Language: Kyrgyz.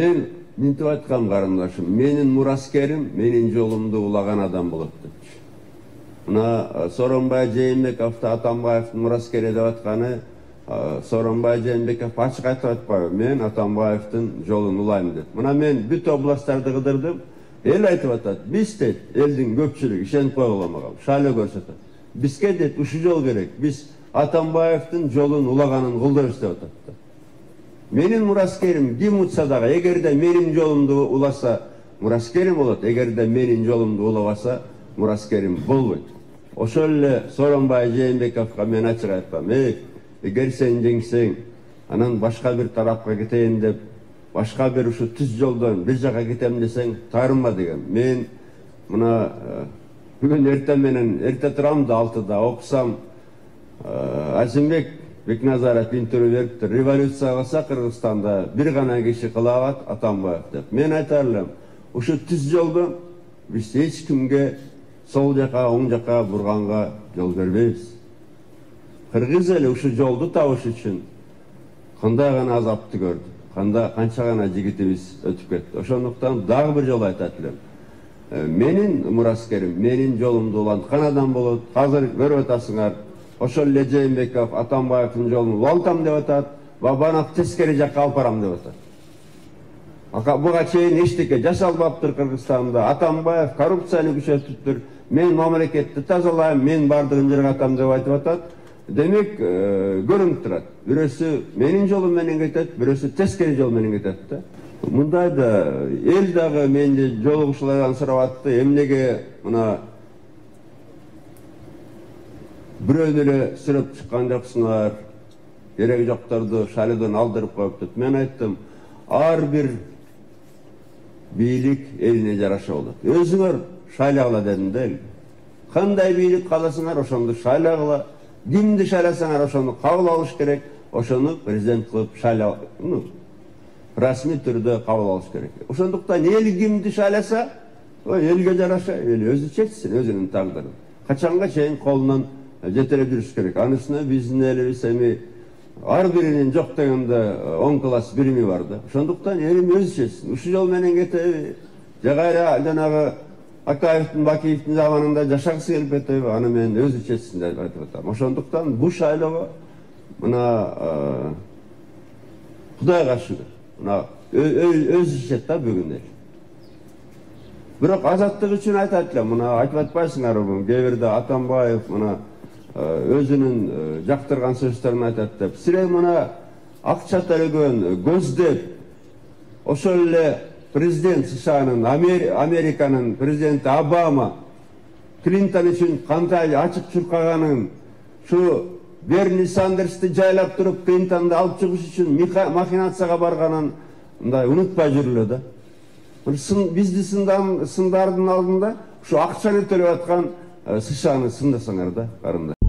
мен мынтип айткам карындашым, менин мураскерим менин жолумду улаган адам болот депчи. Мына Сооронбай Жээнбековду Атамбаевдин мураскери деп атканы, Сооронбай Жээнбеков ачык айтып атпайбы, мен Атамбаевдин жолун улайм деп. Мына мен бүт областтарды кыдырдым, эл айтып атат, биз дейт, элдин көпчүлүгү ишенип койгула мага, шайлоо көрсөтөт. Бизге дейт ушул жол керек, биз Атамбаевдин жолун улаганын кылдырабыз деп атат. Менин мураскерим ким утса дагы, эгерде менин жолумду уласа, мураскерим болот, эгерде менин жолумду улабаса, мураскерим болбойт. Ошол эле Сооронбай Жээнбековго мен ачык айткам, эгер сен жеңсең, анан башка бир тарапка кетейин деп, башка бир ушу түз жолдон бир жака кетем десең, таарынма деген. Мен мына бүгүн эртең менен эрте турам да 6-да окусам, Азимбек Бекназаров интервью бериптир. Революция кылса Кыргызстанда бир гана киши кыла алат, Атамбаев деп. Мен айтар элем, ушу түз жолдон биз эч кимге сол жака, оң жака бурганга жол бербейбиз. Кыргыз эли ушу жолду табыш үчүн кандай гана азапты көрдү, канча гана жигитибиз өтүп кетти. Ошондуктан дагы бир жолу айтат элем. Менин мураскерим, менин жолумду уланткан адам болот. Азыр көрүп атасыңар, ошол эле Жээнбеков Атамбаевдин жолун улантам деп атат, бабанов тескери жакка алып барам деп атат. Буга чейин эчтеке жасалбаптыр Кыргызстанда. Атамбаев коррупцияны күчөтүптүр. Мен мамлекетти тазалайм, мен бардыгын жерге атам деп айтып атат. Демек, көрүнүп турат. Бирөөсү менин жолум менен кетет, бирөөсү тескери жол менен кетет да. Мындайда эл дагы менде жолугушуулардан сурап атты. Эмнеге мына бирөөнү эле сүрөп чыккан жоксуңар, кереги жокторду шайлоодон алдырып коюп деп. Мен айттым, ар бир бийлик элине жараша болот. Өзүңөр шайлагыла дедим да. Кандай бийлик кааласыңар, ошону шайлагыла. Кимди шайласаңар, ошону кабыл алыш керек. Ошону президент кылып шайлоо, расмий түрдө кабыл алыш керек. Ошондуктан эл кимди шайласа, элге жараша, эл өзү чечсин өзүнүн тагдырын. Качанга чейин колунан жетелеп жүрүш керек. Анысына биздин элибиз эми ар биринин жок дегенде 10 класс билими бар да. Ошондуктан элим өзү чечсин. Ушул жол менен кетеби? Же кайра жанагы Акаевдин, Бакиевдин заманында жашагысы келип кетеби? Аны мен өзү чечсин деп айтып атам. Ошондуктан бул шайлоого мына Кудайга шүгүр. Мына өзү чечет да бүгүн эл. Бирок азаттык үчүн айтат элем, мына айтып атпайсыңар бүгүн. Кээ бирде Атамбаев мына өзүнүн жактырган сөздөрүн айтат деп. Сире мына акча төлөгөн, көздөп, ошол эле президент США-нын, Американын президенти Обама Клинтон үчүн кандай ачык чуркаганын, шу Берни Сандерсти жайлап туруп Клинтонду алып чыгыш үчүн махинацияга барганын мындай унутпай жүрүлө да. Бизди сындардын алдында ушу акчаны төлөп аткан США-ны сындасаңар да, карындар.